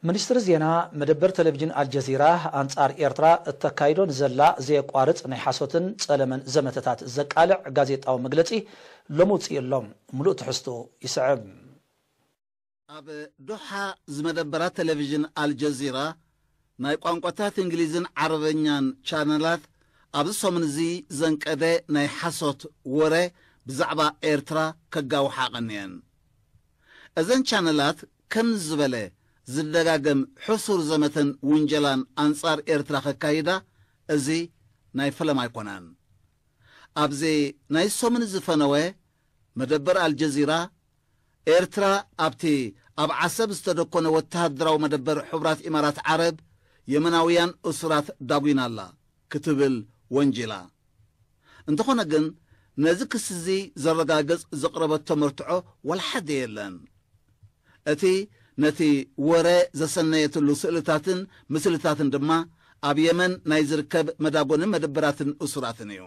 ሚኒስትሪ ዜና፣ መደበር ቴሌቪዥን ኣልጀዚራ ኣንጻር ኤርትራ እተካይዶ ንዘላ ዘየቋርጽ ናይ ሓሶትን ጸለመን ዘመተታት ዘቃልዕ ጋዜጣዊ መግለጺ ሎሚ ውጽእ ኣሎ። ምሉእ ትሕዝትኡ ይስዕብ። ኣብ ዶሓ ዝመደበራ ቴሌቪዥን ኣልጀዚራ ናይ ቋንቋታት እንግሊዝን ዓረበኛን ቻነላት ኣብዚ ሰሙን እዚ ዘንቀደ ናይ ሓሶት ወረ ብዛዕባ ኤርትራ ከጋውሓ ቀንየን። እዘን ቻነላት ከም ዝበለ ዝደጋገም ሕሱር ዘመተን ውንጀላን ኣንጻር ኤርትራ ከካይዳ እዚ ናይ ፈለማ ኣይኮነን። ኣብዚ ናይ ሰሙን ዝፈነወ መደበር ኣልጀዚራ፣ ኤርትራ ኣብቲ ኣብ ዓሰብ ዝተደኮነ ወተሃደራዊ መደበር ሕቡራት ኢማራት ዓረብ የመናውያን እሱራት ዳጒና ኣላ ክትብል ወንጂላ። እንተኾነ ግን ነዚ ክሲ እዚ ዘረጋግጽ ዘቕረበቶ መርትዖ ዋላ ሓደ የለን። እቲ ነቲ ወረ ዘሰነየትሉ ስእልታትን ምስልታትን ድማ ኣብ የመን ናይ ዝርከብ መዳጎንን መደበራትን እሱራትን እዩ።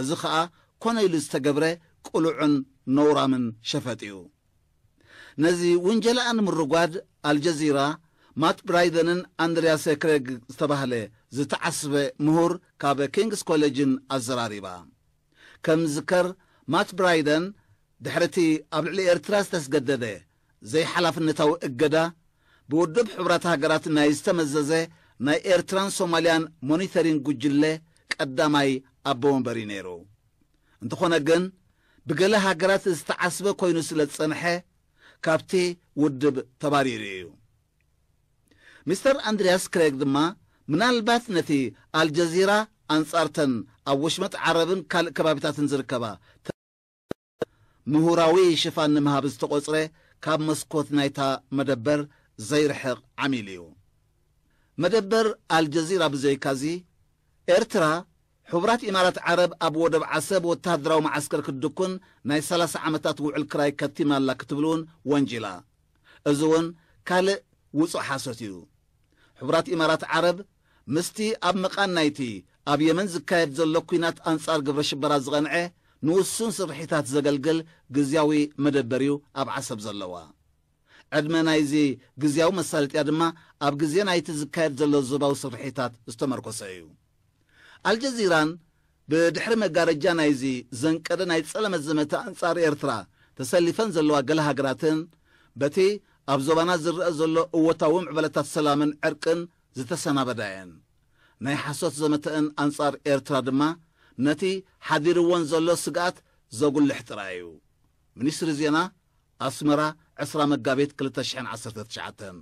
እዚ ኸኣ ኮነ ኢሉ ዝተገብረ ቅሉዕን ነውራምን ሸፈጥ እዩ። ነዚ ውንጀላኣ ንምርጓድ ኣልጀዚራ ማት ብራይደንን ኣንድሪያስ ክሬግ ዝተባህለ ዝተዓስበ ምሁር ካብ ኪንግስ ኮሌጅን ኣዘራሪባ። ከም ዝከር ማት ብራይደን ድሕሪ እቲ ኣብ ልዕሊ ኤርትራ ዝተስገደደ ዘይሓላፍነታዊ እገዳ ብውድብ ሕቡራት ሃገራት ናይ ዝተመዘዘ ናይ ኤርትራን ሶማልያን ሞኒተሪንግ ጉጅለ ቀዳማይ ኣቦ ወንበር እዩ ነይሩ። እንተኾነ ግን ብገለ ሃገራት ዝተዓስበ ኮይኑ ስለ ዝጸንሐ ካብቲ ውድብ ተባሪሩ እዩ። ሚስተር ኣንድሪያስ ክሬግ ድማ ምናልባት ነቲ ኣልጀዚራ ኣንጻርተን ኣብ ወሽመጥ ዓረብን ካልእ ከባቢታትን ዝርከባ ምሁራዊ ሽፋን ንምሃብ ዝተቖጽረ ካብ መስኮት ናይታ መደበር ዘይርሕቕ ዓሚል እዩ። መደበር ኣልጀዚራ ብዘይካዚ ኤርትራ ሕቡራት ኢማራት ዓረብ ኣብ ወደብ ዓሰብ ወተሃደራዊ መዓስከር ክትድኩን ናይ ሰላሳ ዓመታት ውዕል ክራይ ከቲማ ኣላ ክትብል እውን ወንጂላ። እዚ እውን ካልእ ውጹእ ሓሶት እዩ። ሕቡራት ኢማራት ዓረብ ምስቲ ኣብ መቓን ናይቲ ኣብ የመን ዝካየድ ዘሎ ኲናት ኣንጻር ግብረ ሽበራ ዝቐንዐ ንውሱን ስርሒታት ዘገልግል ግዝያዊ መደበር እዩ ኣብ ዓሰብ ዘለዋ። ዕድመ ናይዚ ግዝያዊ መሳለጥያ ድማ ኣብ ግዜ ናይቲ ዝካየድ ዘሎ ዞባዊ ስርሒታት ዝተመርኮሰ እዩ። ኣልጀዚራን ብድሕሪ መጋረጃ ናይዚ ዘንቀደ ናይ ጸለመ ዘመተ ኣንጻር ኤርትራ ተሰሊፈን ዘለዋ ገለ ሃገራትን በቲ ኣብ ዞባና ዝረአ ዘሎ እወታዊ ምዕበለታት ሰላምን ዕርቅን ዝተሰናበዳ እየን። ናይ ሓሶት ዘመተአን ኣንጻር ኤርትራ ድማ ነቲ ሓዲርወን ዘሎ ስግኣት ዘጉልሕ ጥራይ እዩ። ሚኒስትሪ ዜና፣ ኣስመራ፣ ዕስራ መጋቢት ክልተ ሽሕን ዓሰርተ ትሽዓተን።